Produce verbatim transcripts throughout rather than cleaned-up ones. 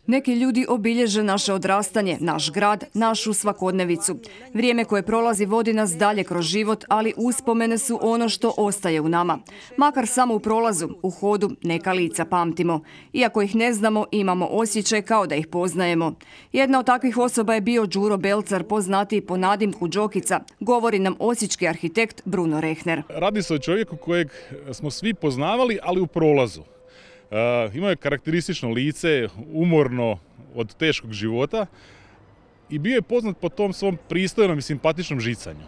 Neki ljudi obilježe naše odrastanje, naš grad, našu svakodnevicu. Vrijeme koje prolazi vodi nas dalje kroz život, ali uspomene su ono što ostaje u nama. Makar samo u prolazu, u hodu neka lica pamtimo. Iako ih ne znamo, imamo osjećaj kao da ih poznajemo. Jedna od takvih osoba je bio Đuro Belcar, poznatiji po nadimku Đokica, govori nam osječki arhitekt Bruno Rehner. Radi se o čovjeku kojeg smo svi poznavali, ali u prolazu. Uh, imao je karakteristično lice, umorno od teškog života i bio je poznat po tom svom pristojnom i simpatičnom žicanju.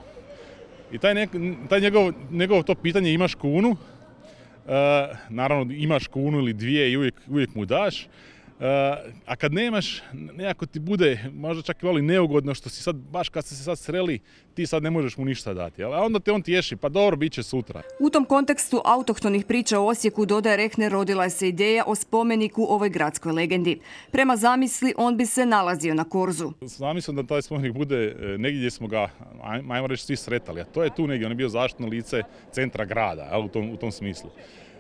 I taj, nek, taj njegov, njegov to pitanje imaš kunu, uh, naravno imaš kunu ili dvije i uvijek, uvijek mu daš, uh, a kad nemaš, nekako ti bude možda čak i voli neugodno što si sad, baš kad ste se sad sreli, ti sad ne možeš mu ništa dati. A onda te on tješi, pa dobro, bit će sutra. U tom kontekstu autohtonih priča o Osijeku, dodaje Rehner, rodila se ideja o spomeniku ovoj gradskoj legendi. Prema zamisli, on bi se nalazio na Korzu. Zamislim da taj spomenik bude negdje gdje smo ga, ajmo reći, svi sretali. A to je tu negdje, on je bio zaštitno lice centra grada, u tom, u tom smislu.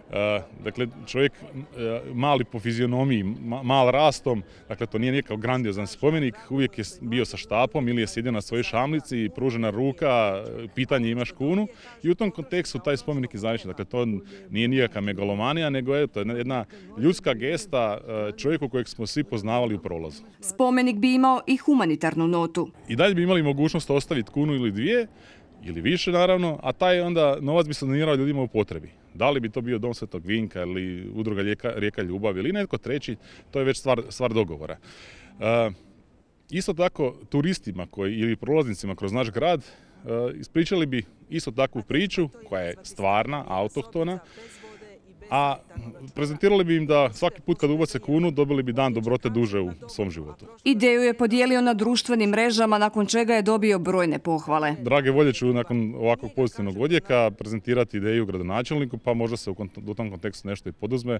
Uh, dakle, čovjek uh, mali po fizionomiji, ma, mal rastom, dakle to nije nikakav grandiozan spomenik, uvijek je bio sa štapom ili je sjedio na svojoj šamlici, pružena ruka, pitanje imaš kunu i u tom kontekstu taj spomenik je zavičan. Dakle, to nije nikakva megalomanija, nego je to jedna ljudska gesta uh, čovjeku kojeg smo svi poznavali u prolazu. Spomenik bi imao i humanitarnu notu. I dalje bi imali mogućnost ostaviti kunu ili dvije, ili više naravno, a taj onda novac bi se donirao ljudima u potrebi. Da li bi to bio Dom Svetog Vinka ili Udruga Rijeka, Rijeka ljubavi ili netko treći, to je već stvar, stvar dogovora. E, isto tako turistima koji, ili prolaznicima kroz naš grad e, ispričali bi isto takvu priču koja je stvarna, autohtona, a prezentirali bi im da svaki put kad ubace kunu dobili bi dan dobrote duže u svom životu. Ideju je podijelio na društvenim mrežama, nakon čega je dobio brojne pohvale. Drage volje ću nakon ovakvog pozitivnog odjeka prezentirati ideju gradonačelniku, pa možda se u tom kontekstu nešto i poduzme. E,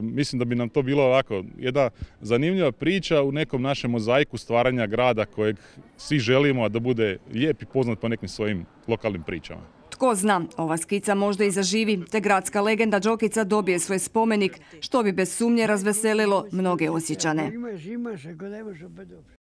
mislim da bi nam to bilo ovako jedna zanimljiva priča u nekom našem mozaiku stvaranja grada kojeg svi želimo, a da bude lijep i poznat po nekim svojim lokalnim pričama. Tko zna, ova skica možda i zaživi, te gradska legenda Đokica dobije svoj spomenik, što bi bez sumnje razveselilo mnoge Osječane.